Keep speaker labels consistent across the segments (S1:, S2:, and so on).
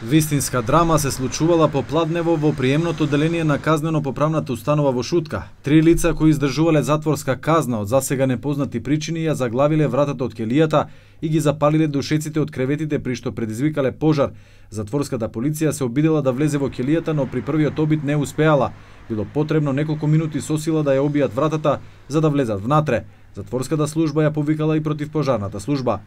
S1: Вистинска драма се случувала попладнево во приемното одделение на казнено-поправната установа во Шутка. 3 лица кои издржувале затворска казна од засега непознати причини ја заглавиле вратата од келијата и ги запалиле душеците од креветите при што предизвикале пожар. Затворската полиција се обидела да влезе во келијата, но при првиот обид не успеала. Било потребно неколку минути со сила да ја обијат вратата за да влезат внатре. Затворската служба ја повикала и против пожарната служба.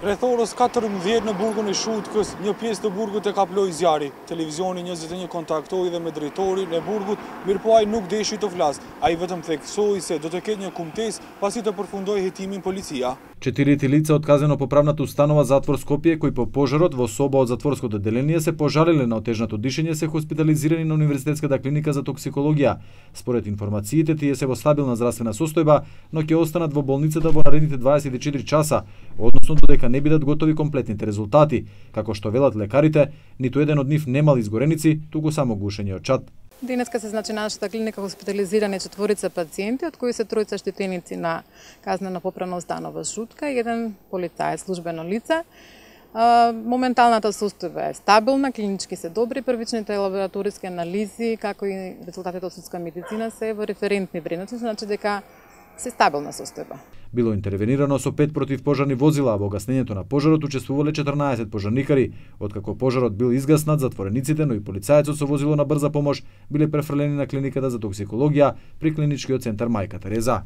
S2: Rreth orës 14 në burgun e Shutkës, një pjesë të burgut e kaploi zjarri. Televizioni 21 kontaktoi dhe me drejtorin e burgut, mirëpo ai nuk deshi të flas. Ai vetëm theksoi se do të ketë një kumtesë pasi të përfundoi hetimin policia.
S1: 4 лица од казнено-поправната установа затвор Скопје кои по пожарот во соба од затворското одделение се пожалиле на отежнато дишење се хоспитализирани на Универзитетската клиника за токсикологија. Според информациите тие се во стабилна здравствена состојба, но ќе останат во болницата во наредните 24 часа, односно додека не бидат готови комплетните резултати. Како што велат лекарите, ниту еден од нив немал изгореници, туку само гушење од чад.
S3: Денеска се на нашата клиника хоспитализирани 4 пациенти, од кои се 3 штетеници на казнено-поправна установа Шутка и 1 полицаец, службено лице. Моменталната состојба е стабилна, клинички се добри, првичните лабораториски анализи, како и резултатите од судска медицина се во референтни вредности, значи дека се стабилна состојба.
S1: Било интервенирано со 5 противпожарни возила, а во гаснењето на пожарот учествувале 14 пожарникари. Откако пожарот бил изгаснат, затворениците, но и полицајецот со возило на брза помош биле префрлени на клиниката за токсикологија при клиничкиот центар Мајка Тереза.